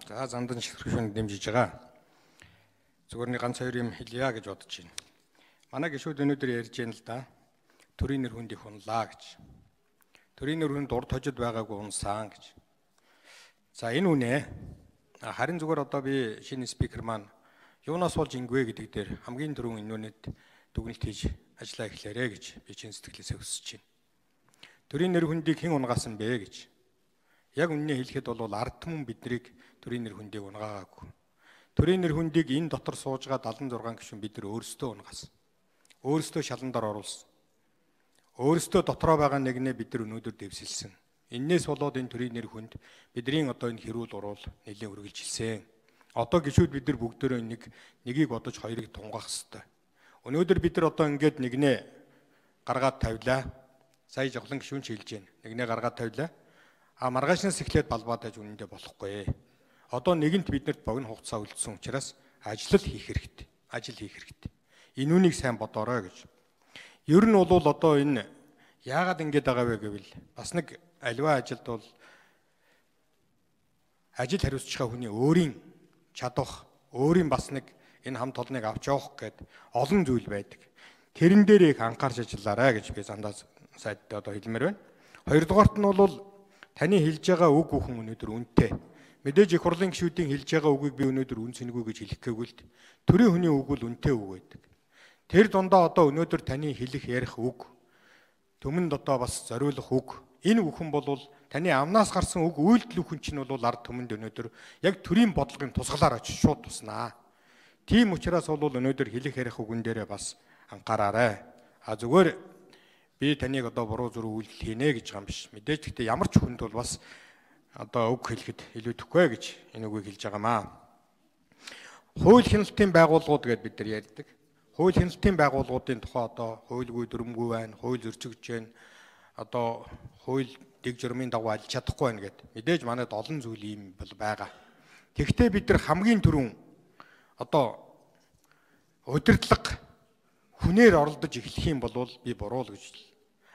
За зандан ширхүүн дэмжиж байгаа. Зүгээр нэг ганц хоёр юм хэлье гэж бодож байна. Манай гишүүд өнөөдөр ярьж байна л да. Төрийн нэр хүнд их унлаа гэж. Төрийн нэр хүнд урд хожид байгаагүй унсан гэж. За энэ үнэ. Харин зүгээр одоо би шинэ спикер маань юунаас болж ингэвэ гэдэг дээр хамгийн түрүүн энэ үнэд дүгнэлт хийж ажиллаа эхлээрэ гэж би чин сэтгэлээсээ хүсэж байна. Төрийн нэр хүндийг хэн унгаасан бэ гэж. Яг үннийг хэлэхэд бол ард түмэн биднийг төрийн нэр хүндийг унгаагаагүй. Төрийн нэр хүндийг энэ дотор сууж байгаа 76 гишүүн бид нар өөрсдөө унгасан. Өөрсдөө шаландар оруулсан. Өөрсдөө дотроо байгаа нэгнээ бид нар өнөөдөр дэвсэлсэн. Иннээс болоод энэ төрийн нэр хүнд бидний одоо энэ хэрүүл уруул нэлийн үргэлжилсэн. Одоо гишүүд бид нар бүгдөө нэгийг бодож хоёрыг тунгаах хэрэгтэй. Өнөөдөр бид нар одоо ингээд нэгнээ гаргаад тавилаа. Сая жавхлан гишүүн ч хэлж байна. Нэгнээ гаргаад тавилаа. Маргаашнаас эхлээд балбаад байж үнэндээ болохгүй. Одоо нэгэнт биднэрт богино хугацаа үлдсэн учраас ажил хийх хэрэгтэй. Ажил хийх хэрэгтэй. Энэ үнийг сайн бодоорой гэж. Ер нь бол одоо энэ яагаад ингэж байгаа вэ гэвэл бас нэг аливаа ажилд бол ажил хариуцж байгаа хүний өөрийн чадвах, өөрийн бас нэг энэ хам толныг авч явах гэд олон зүйл байдаг. Тэрэн дээр их анхаарч ажиллаарай гэж би зандаа сайдтай одоо хэлмээр байна. Хоёрдугаарт нь бол таны хэлж байгаа үг бүхэн өнөөдөр үнэтэй. Мэдээж их хурлын гишүүдийн хэлж байгаа үгийг би өнөөдөр үн цэнэгүй гэж хэлэх гээгүй л төрийн хүний үг бол үнэтэй үг байдаг. Тэр дундаа одоо өнөөдөр таны хэлэх ярих үг, түмэнд одоо бас зориулах үг, энэ бүхэн бол таны амнаас гарсан үг үйлдэл бүхэн чинь бол ард түмэнд өнөөдөр яг төрийн бодлогын тусгалаар очиж шууд туснаа. Тийм учраас бол өнөөдөр хэлэх ярих үгэн дээрээ бас анхаараарай. Зүгээр би таныг одоо буруу зүрх үйлдэл хийнэ гэж байгаа юм биш. Мэдээж гэхдээ ямар ч хүнд бол бас одоо үг хэлэхэд илүүдэхгүй гэж энэ үгийг хэлж байгаамаа. Хууль хяналтын байгууллагууд гэдээ бид нар ярьдаг. Хууль хяналтын байгууллагуудын тухай одоо хуульгүй дүрмгүй байна, хууль зөрчигдөж байна. Одоо хууль дэг журмын дагуу алж чадахгүй байна гэд. Мэдээж манайд олон зүйл ийм бол байгаа. Тэгэхдээ бид нар хамгийн түрүүн одоо удирдлага хүнээр оролдож эхлэх юм бол би буруу л гэж.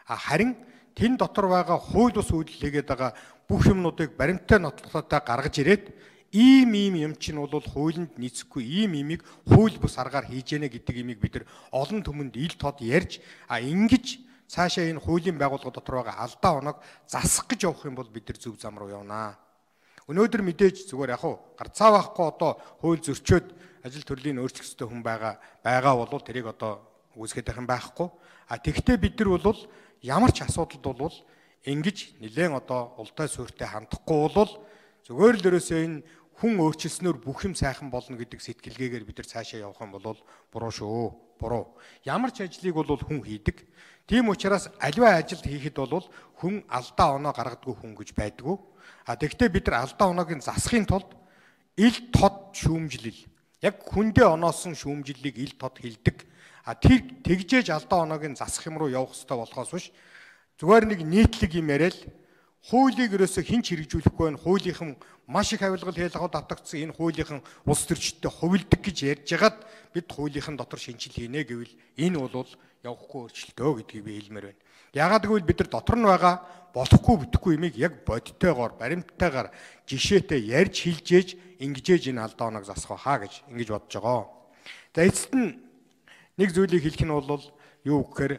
Харин тэн дотор байгаа хууль бус үйлдэл хийгээд байгаа бүх юмнуудыг баримттай нотлохтой гаргаж ирээд ийм юм чинь бол хуулинд нийцэхгүй ийм имийг хууль бус аргаар хийж яана гэдэг имийг бид нар олон түмэнд ил тод ярьж ингэж цаашаа энэ хуулийн байгууллага дотор байгаа алдаа оног засах гэж явах юм бол бид нар зөв зам руу явнаа. Өнөөдөр мэдээж зүгээр яг гарцаа байхгүй одоо хууль зөрчөөд ажил төрлийн өөрчлөх ёстой хүн байгаа бол тэрийг одоо үүсгэж байх юм байхгүй. Тэгвэл бид нар бол ямар ч асуудалд бол ингэж нэлээд одоо ултай суурьтай хандахгүй бол зүгээр л ерөөсөө энэ хүн өөрчлөснөөр бүх юм сайхан болно гэдэг сэтгэлгээгээр бид нар цаашаа явах юм бол буруу шүү. Буруу. Ямар ч ажлыг бол хүн хийдэг. Тийм учраас аливаа ажил хийхэд бол хүн алдаа оноо гаргадаггүй хүн гэж байдгүй. Тэгэхдээ бид нар алдаа оноог засахын тулд ил тод шүүмжлэл. Яг хүндээ оноосон шүүмжлэлийг ил тод хилдэг. Тэр тэгжээж алдаа оноог засах юм руу явах хэрэгтэй болохоос биш. Зүгээр нэг нийтлэг юм яриад хуулийг ерөөсө хинч хэрэгжүүлэхгүй байна. Хуулийнхан маш их авилгал хийлгахад давтагдсан энэ хуулийнхан улс төрчидтэй хувилдаг гэж ярьж хагаад бид хуулийнхан дотор шинжил хийнэ гэвэл энэ бол явахгүй өөрчлөлтөө гэдгийг би хэлмээр байна. Яагаад гэвэл бид нар дотор нь байгаа болохгүй бүтэхгүй юмыг яг бодиттойгоор, баримттайгаар жишээтэй ярьж хилжээж ингэжээж энэ алдаа оноог засах хаа гэж ингэж бодож байгаа. За эцэст нь нэг зүйлийг хэлэх нь бол юу гэхээр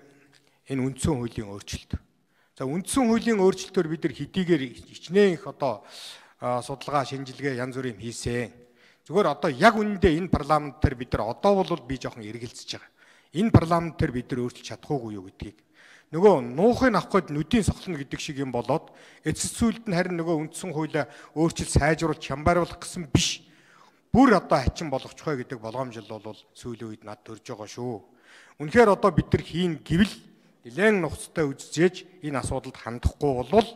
энэ үндсэн хуулийн өөрчлөлт. За үндсэн хуулийн өөрчлөлтөөр бид нар хэдийгээр хичнээн их одоо судалгаа, шинжилгээ янз бүрийн хийсэн. Зүгээр одоо яг үнэндээ энэ парламент дээр бид нар одоо бол би жоохон эргэлзэж байгаа. Энэ парламент дээр бид нар өөрчилж чадахгүй юу гэдгийг. Нөгөө нуухыг авах гээд нүдийн сохлно гэдэг шиг юм болоод эцэс зүйлд нь харин нөгөө үндсэн хуулиа өөрчил сайжруулж хямбаруулах гэсэн биш. Бүр одоо хачин болгочихой гэдэг болгоомжил бол сүүлийн үед над төрж байгаа шүү. Үнэхээр одоо бид нар хийн гэвэл нэлээд нухацтай үзжээж энэ асуудалд хандахгүй бол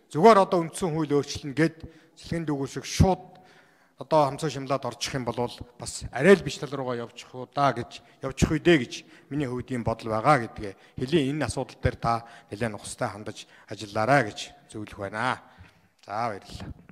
зүгээр одоо үндсэн хууль өөрчлөлнө гэд цэлгийн дүүгүү шиг шууд одоо хамцаа шимлаад орчих юм бол бас арай л биш тал руугаа явчих уу да гэж явчих үедээ гэж миний хувьд ийм бодол байгаа гэдгээ хэлийн энэ асуудал дээр та нэлээд нухацтай хандаж ажиллаарай гэж зөвлөх байна. За баярлалаа.